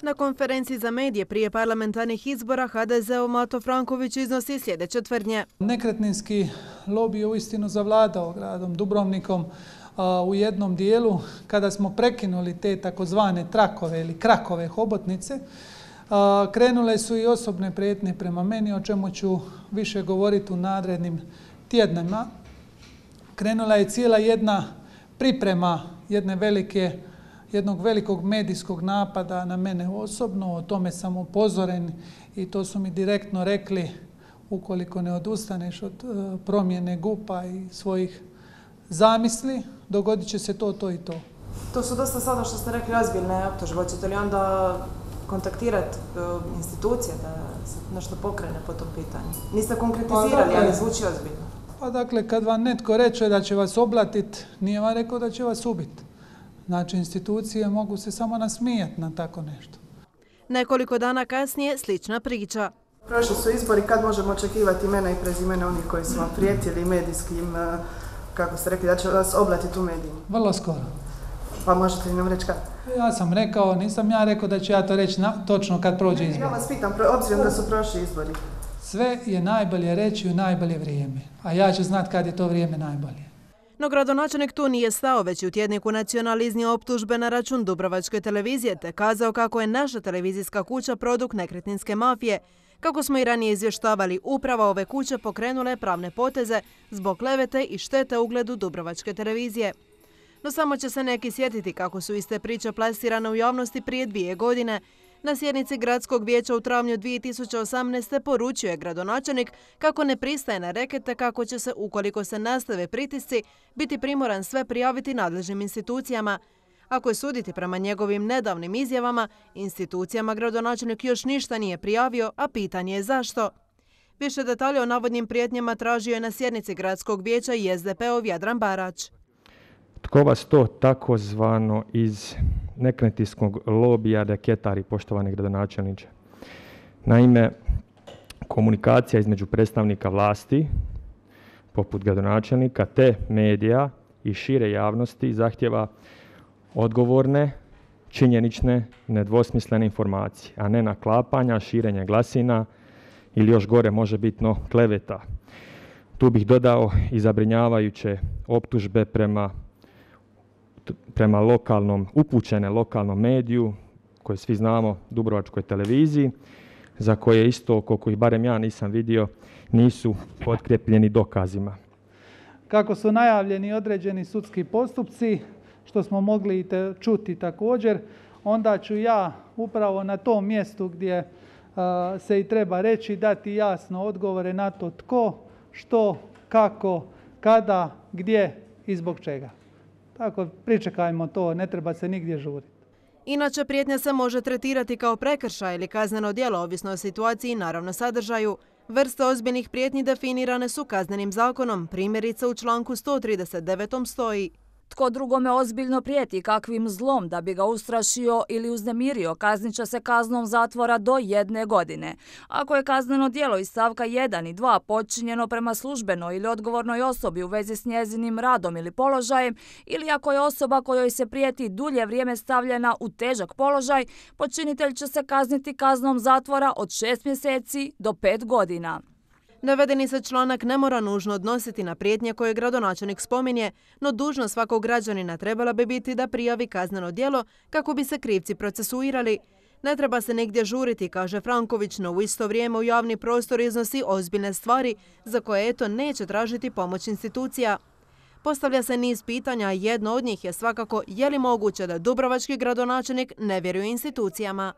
Na konferenciji za medije prije parlamentarnih izbora HDZ-ov Mato Franković iznosi sljedeće tvrdnje. Nekretninski lobij je uistinu zavladao gradom Dubrovnikom u jednom dijelu kada smo prekinuli te takozvane trakove ili krakove hobotnice. Krenule su i osobne prijetnje prema meni, o čemu ću više govoriti u narednim tjednima. Krenula je cijela jedna priprema jednog velikog medijskog napada na mene osobno. O tome sam upozoren i to su mi direktno rekli: ukoliko ne odustaneš od promjene GUP-a i svojih zamisli, dogodit će se to i to. To su dosta sada, što ste rekli, ozbiljne optužbe. Hoćete li onda kontaktirati institucije da se nešto pokrene po tom pitanju? Niste konkretizirali, ali zvuči ozbiljno. Pa dakle, kad vam netko reče da će vas oblatiti, nije vam rekao da će vas ubiti. Znači, institucije mogu se samo nasmijati na tako nešto. Nekoliko dana kasnije slična priča. Prošli su izbori, kad možemo očekivati imena i prezimena onih koji su vam prijetili medijskim, kako ste rekli, da će vas oblatiti u medijima? Vrlo skoro. Pa možete li nam reći kad? Ja sam rekao, nisam ja rekao da ću ja to reći točno kad prođe izbor. Ja vas pitam, obzirom da su prošli izbori. Sve je najbolje reći u najbolje vrijeme, a ja ću znati kad je to vrijeme najbolje. No gradonačelnik tu nije stao, već u tjedniku Nacional iznio optužbe na račun Dubrovačke televizije te kazao kako je naša televizijska kuća produkt nekretninske mafije. Kako smo i ranije izvještavali, uprava ove kuće pokrenule pravne poteze zbog klevete i štete ugledu Dubrovačke televizije. No samo će se neki sjetiti kako su iste priče plasirane u javnosti prije 2 godine. Na sjednici Gradskog vijeća u travnju 2018. poručio je gradonačelnik kako ne pristaje na rekete kako će se, ukoliko se nastave pritisci, biti primoran sve prijaviti nadležnim institucijama. Ako je suditi prema njegovim nedavnim izjavama, institucijama gradonačelnik još ništa nije prijavio, a pitanje je zašto. Više detalje o navodnim prijetnjama tražio je na sjednici Gradskog vijeća i SDP-ov Jadran Barać. Tko vas to takozvano iz nekretninskog lobija reketari, poštovani gradonačelniče? Naime, komunikacija između predstavnika vlasti, poput gradonačelnika, te medija i šire javnosti zahtjeva odgovorne, činjenične, nedvosmislene informacije, a ne naklapanja, širenje glasina ili još gore možebitno kleveta. Tu bih dodao i zabrinjavajuće optužbe prema upućene lokalnom mediju, koje svi znamo, Dubrovačkoj televiziji, za koje isto, koliko ih barem ja nisam vidio, nisu potkrepljeni dokazima. Kako su najavljeni određeni sudski postupci, što smo mogli čuti također, onda ću ja upravo na tom mjestu gdje se i treba reći dati jasno odgovore na to tko, što, kako, kada, gdje i zbog čega. Tako, pričekajmo to, ne treba se nigdje žuriti. Inače, prijetnja se može tretirati kao prekršaj ili kazneno djelo, ovisno o situaciji i naravno sadržaju. Vrste ozbiljnih prijetnji definirane su Kaznenim zakonom. Primjerice u članku 139. stoji: tko drugome ozbiljno prijeti kakvim zlom da bi ga ustrašio ili uznemirio, kaznit će se kaznom zatvora do 1 godine. Ako je kazneno djelo iz stavka 1 i 2 počinjeno prema službenoj ili odgovornoj osobi u vezi s njezinim radom ili položajem, ili ako je osoba kojoj se prijeti dulje vrijeme stavljena u težak položaj, počinitelj će se kazniti kaznom zatvora od 6 mjeseci do 5 godina. Navedeni se članak ne mora nužno odnositi na prijetnje koje gradonačelnik spominje, no dužnost svakog građanina trebala bi biti da prijavi kazneno djelo kako bi se krivci procesuirali. Ne treba se nigdje žuriti, kaže Franković, no u isto vrijeme u javni prostor iznosi ozbiljne stvari za koje neće tražiti pomoć institucija. Postavlja se niz pitanja, a jedno od njih je svakako je li moguće da dubrovački gradonačelnik ne vjeruje institucijama.